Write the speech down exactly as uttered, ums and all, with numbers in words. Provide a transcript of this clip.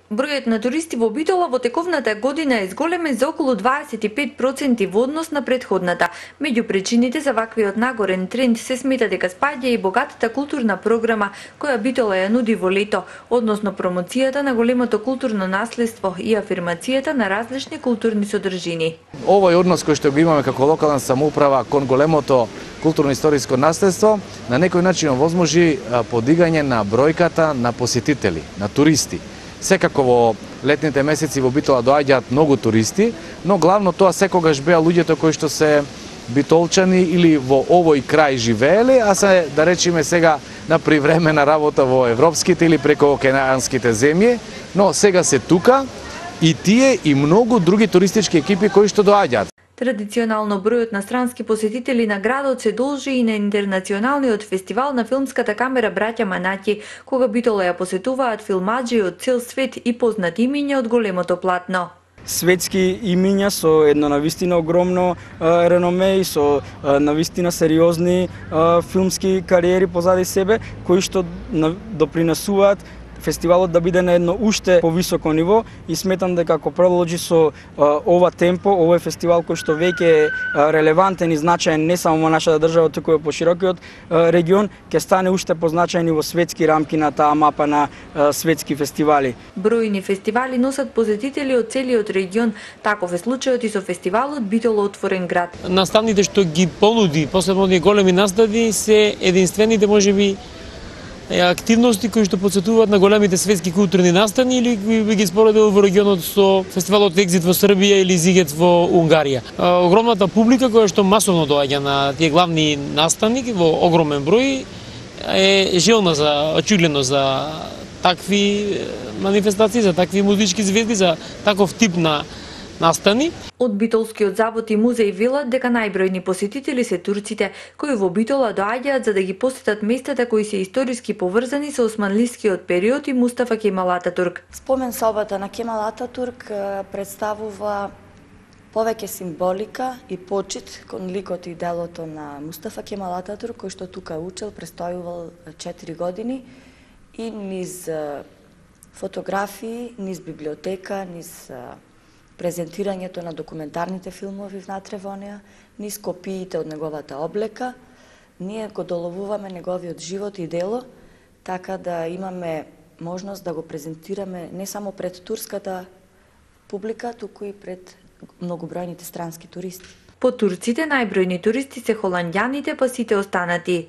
Бројот на туристи во Битола во тековната година е зголемен за околу дваесет и пет проценти во однос на претходната. Меѓу причините за ваквиот нагорен тренд се смета дека спаѓа и богатата културна програма која Битола ја нуди во лето, односно промоцијата на големото културно наследство и афирмацијата на различни културни содржини. Овој однос кој што го имаме како локална самоуправа кон големото културно-историско наследство на некој начин овозможи подигање на бројката на посетители, на туристи. Секако во летните месеци во Битола доаѓаат многу туристи, но главно тоа секогаш беа луѓето кои што се битолчани или во овој крај живееле, а се, да речеме сега, на привремена работа во европските или прекоокеанските земји, но сега се тука и тие и многу други туристички екипи кои што доаѓаат. Традиционално бројот на странски посетители на градот се должи и на интернационалниот фестивал на филмската камера Браќа Манаќи, кога Битола ја посетуваат филмаџи од цел свет и познати имиња од големото платно. Светски имиња со едно навистина огромно е, реноме и со е, навистина сериозни е, филмски кариери позади себе, кои што допринесуваат фестивалот да биде на едно уште повисоко ниво и сметам дека ако продолжи со а, ова темпо, овој фестивал кој што веќе е релевантен и значаен не само во нашата држава, туку и по широкиот а, регион, ќе стане уште позначаен и во светски рамки на таа мапа на а, светски фестивали. Бројни фестивали носат посетители од целиот регион, таков е случајот и со фестивалот Битола отворен град. Наставните што ги понуди, посебно оние големи настави, се единствените можеби активности кои што подсетуваат на големите светски културни настани или би ги споредил во регионот со фестивалот Екзит во Србија или Зигет во Унгарија. Огромната публика која што масовно доаѓа на тие главни настани во огромен број е желна за очигледно за такви манифестации, за такви музички звезди, за таков тип на настани. Од Битолскиот завод и музеј велат дека најбројни посетители се турците, кои во Битола доаѓаат за да ги посетат местата кои се историски поврзани со османлискиот период и Мустафа Кемал Ататурк. Спомен собата на Кемал Ататурк представува повеќе символика и почит кон ликот и делото на Мустафа Кемал Ататурк, кој што тука учел, престојувал четири години и низ фотографии, низ библиотека, низ презентирањето на документарните филмови внатре во неа, низ копиите од неговата облека, ние го доловуваме неговиот живот и дело, така да имаме можност да го презентираме не само пред турската публика, туку и пред многобројните странски туристи. По турците најбројни туристи се холандјаните, па сите останати.